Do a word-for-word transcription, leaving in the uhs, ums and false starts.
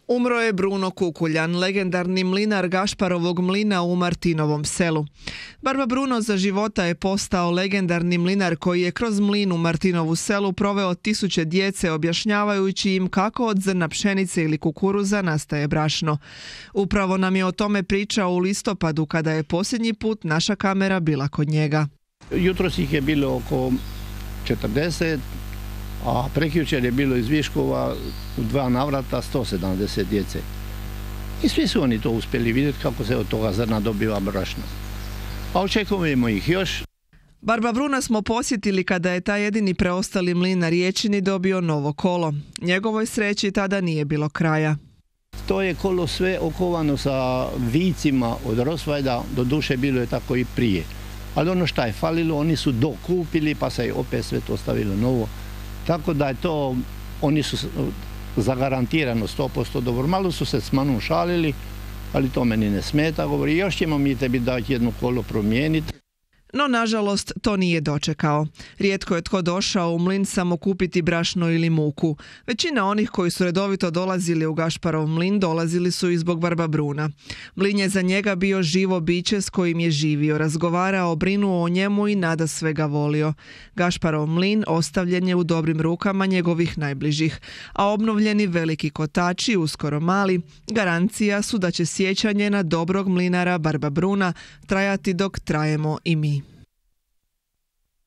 Umro je Bruno Kukuljan, legendarni mlinar Gašparovog mlina u Martinovom selu. Barba Bruno za života je postao legendarni mlinar koji je kroz mlin u Martinovu selu proveo tisuće djece objašnjavajući im kako od zrna pšenice ili kukuruza nastaje brašno. Upravo nam je o tome pričao u listopadu kada je posljednji put naša kamera bila kod njega. Jutros ih je bilo oko četrdeset, a prekjučer je bilo iz Viškova u dva navrata sto sedamdeset djece. I svi su oni to uspjeli vidjeti kako se od toga zrna dobiva brašno. A očekujemo ih još. Barba Bruna smo posjetili kada je taj jedini preostali mlin na Riječini dobio novo kolo. Njegovoj sreći tada nije bilo kraja. To je kolo sve okovano sa vicima od Rosvajda, do duše bilo je tako i prije. Ali ono što je falilo, oni su dokupili pa se je opet sve to stavilo novo. Tako da je to, oni su zagarantirano sto posto dobro. Malo su se s manom šalili, ali to meni ne smeta. Govori, još ćemo mi tebi dati jedno kolo promijeniti. No, nažalost, to nije dočekao. Rijetko je tko došao u mlin samo kupiti brašno ili muku. Većina onih koji su redovito dolazili u Gašparov mlin dolazili su i zbog Barba Bruna. Mlin je za njega bio živo biće s kojim je živio, razgovarao, brinuo o njemu i nada svega volio. Gašparov mlin ostavljen je u dobrim rukama njegovih najbližih, a obnovljeni veliki kotači, uskoro mali, garancija su da će sjećanje na dobrog mlinara Barba Bruna trajati dok trajemo i mi.